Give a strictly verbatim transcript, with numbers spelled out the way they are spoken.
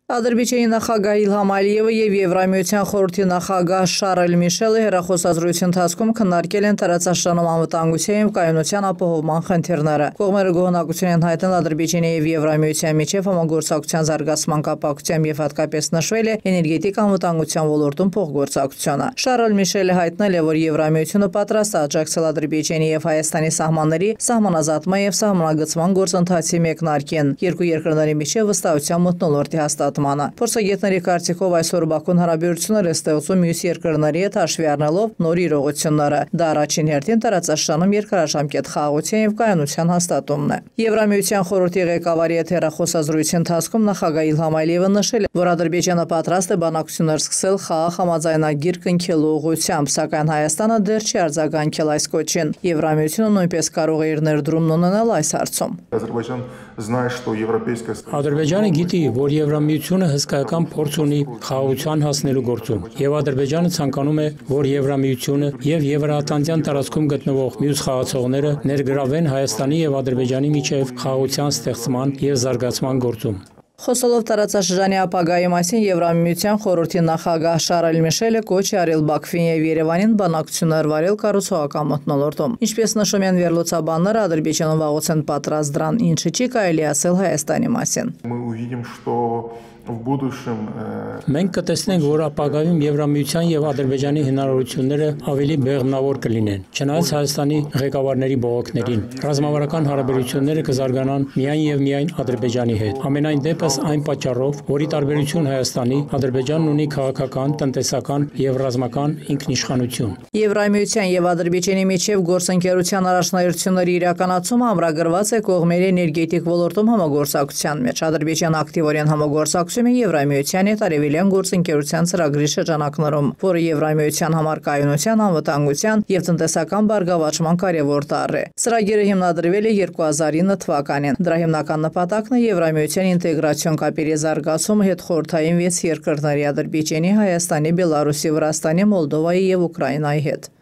Ադրբեջանի նախագահ Իլհամ Ալիևը եւ Եվրամիության խորհրդի նախագահ Շարլ Միշելը հեռախոսազրույցի ընթացքում քննարկել են տարածաշրջանում անվտանգության եւ կայունության ապահովման խնդիրները։ Կողմերը գոհունակություն են հայտնել Ադրբեջանի եւ Եվրամիության միջև համագործակցության զարգացման կապակցությամբ եւ հատկապես նշվել է էներգետիկ անվտանգության ոլորտում փոխգործակցությունը։ Շարլ Միշելը հայտնել է, որ Եվրամիությունը պատրաստ է աջակցել Ադրբեջանի եւ Հայաստանի սահմանների սահմանազատման եւ սահմանագծման գործընթացի մեկնարկին, երկու երկրների միջև վստահության մթնոլորտի հաստատմանը։ Փորձագետների կարծիքով այսօր Բաքուն հարաբերություններ է ստեղծում մյուս երկրների հետ հաշվի առնելով նոր իրողությունները։ Դա առաջին հերթին տարածաշրջանում երկարաժամկետ խաղաղության եւ կայունության հաստատումն է։ Եվրամիության խորհրդի ղեկավարի հետ հեռախոսազրույցի ընթացքում նախագահ Իլհամ Ալիևը նշել է, որ Ադրբեջանը պատրաստ է բանակցություններ սկսել խաղաղ համաձայնագիր կնքելու ուղղությամբ, սակայն Հայաստանը դեռ չի արձագանքել այս կոչին։ Եվրամիությունը նույնպես կարող է իր ներդրումն ունենալ այս հարցում։ Ադրբեջանը գիտի, որ Եվրամիությունը հսկայական փորձ ունի խաղաղության հասնելու գործում, եւ Ադրբեջանը ցանկանում է, որ Եվրամիությունը եւ Եվրաատլանտյան տարածքում գտնվող մյուս խաղացողները ներգրավեն Հայաստանի եւ Ադրբեջանի միջև խաղաղության ստեղծման եւ զարգացման գործում։ Խոսելով տարածաշրջանի ապագայի մասին Եվրամիության խորհրդի նախագահ Շարլ Միշելը կոչ է արել Բաքվին եւ Երևանին բանակցություններ վարել կառուցողական մթնոլորտում։ Ինչպես նշում են վերլուծաբանները, Ադրբեջանը վաղուց են պատրաստ դրան, ինչը չի կարելի ասել Հայաստանի մասին։ Մենք կտեսնենք, որ ապագայում Եվրամիության եւ Ադրբեջանի հնարավորությունները ավելի բեղմնավոր կլինեն։ Չնայած Հայաստանի ղեկավարների բողոքներին, ռազմավարական հարաբերությունները կզարգանան միայն եւ միայն Ադրբեջանի հետ։ Ամենայն դեպս այն պատճառով, որի տարբերություն Հայաստանի, Ադրբեջանն ունի քաղաքական, տնտեսական եւ ռազմական ինքնիշխանություն։ Եվրամիության եւ Ադրբեջանի միջև գործընկերության առաջնահերթությունների իրականացումը ամրագրված է կողմերի էներգետիկ ոլորտում համագործակցության մեջ։ Ադրբեջանը ակտիվորեն համագործակցում է Եվրամիության հետ արևելյան գործընկերության ծրագրի շրջանակներում, որը Եվրամիության համար կայունության, անվտանգության եւ տնտեսական բարգավաճման կարևոր տարր է։ Ծրագիրը հիմնադրվել է երկու հազար ինը թվականին։ Դրա հիմնական նպատակն է Եվրամիության ինտեգրացիոն կապերի զարգացումը հետխորհրդային վեց երկրների Ադրբեջանի, Հայաստանի, Բելարուսի, Վրաստանի, Մոլդովայի եւ Ուկրաինայի հետ։